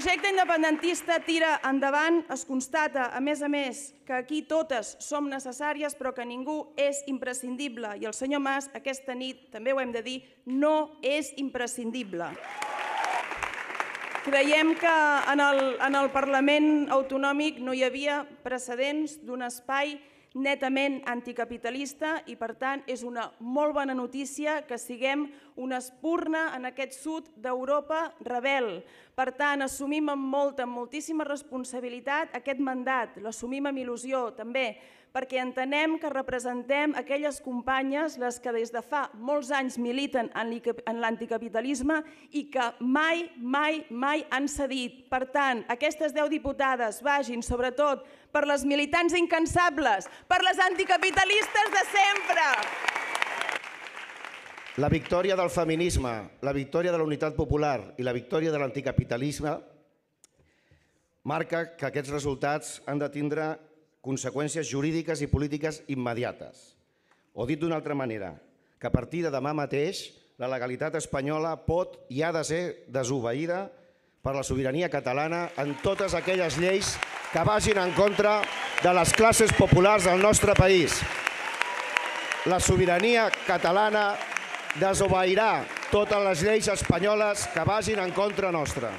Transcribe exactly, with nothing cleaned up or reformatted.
projecte independentista tira endavant, es constata, a més a més, que aquí totes som necessàries però que ningú és imprescindible. I el senyor Mas, aquesta nit, també ho hem de dir, no és imprescindible. Creiem que en el Parlament Autonòmic no hi havia precedents d'un espai netament anticapitalista i, per tant, és una molt bona notícia que siguem una espurna en aquest sud d'Europa rebel. Per tant, assumim amb molta, amb moltíssima responsabilitat aquest mandat, l'assumim amb il·lusió també, perquè entenem que representem aquelles companyes, les que des de fa molts anys militen en l'anticapitalisme i que mai, mai, mai han cedit. Per tant, aquestes deu diputades vagin sobretot per les militants incansables, per les anticapitalistes de sempre. La victòria del feminisme, la victòria de la unitat popular i la victòria de l'anticapitalisme marca que aquests resultats han de tindre conseqüències jurídiques i polítiques immediates. O dit d'una altra manera, que a partir de demà mateix la legalitat espanyola pot i ha de ser desobeïda per la sobirania catalana en totes aquelles lleis que vagin en contra de les classes populars del nostre país. La sobirania catalana desobeirà totes les lleis espanyoles que vagin en contra nostra.